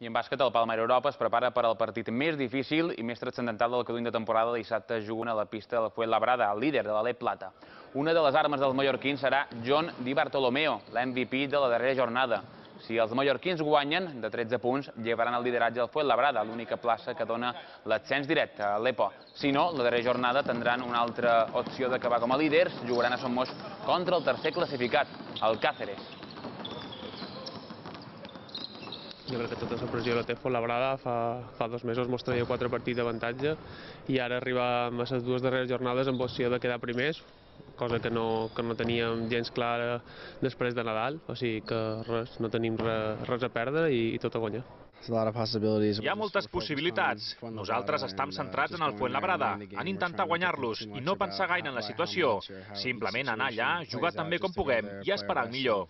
I en bàsquet, el Palma Europa es prepara per al partit més difícil i més transcendental del que duim de temporada. Dissabte juguen a la pista del Fuenlabrada, el líder de l'Alep Plata. Una de les armes dels mallorquins serà John Di Bartolomeo, l'MVP de la darrera jornada. Si els mallorquins guanyen de 13 punts, llevaran el lideratge al Fuenlabrada, l'única plaça que dona l'ascens directe a l'EPO. Si no, la darrera jornada tindran una altra opció d'acabar com a líders. Jugaran a Somos contra el tercer classificat, el Cáceres. Jo crec que tota la pressió la té Fuenlabrada. Fa 2 mesos mos traia 4 partits d'avantatge i ara arribar a les 2 darreres jornades amb opció de quedar primers, cosa que no teníem gens clara després de Nadal, o sigui que res, no tenim res a perdre i tot a guanyar. Hi ha moltes possibilitats. Nosaltres estem centrats en el Fuenlabrada, en intentar guanyar-los i no pensar gaire en la situació. Simplement anar allà, jugar tan bé com puguem i esperar el millor.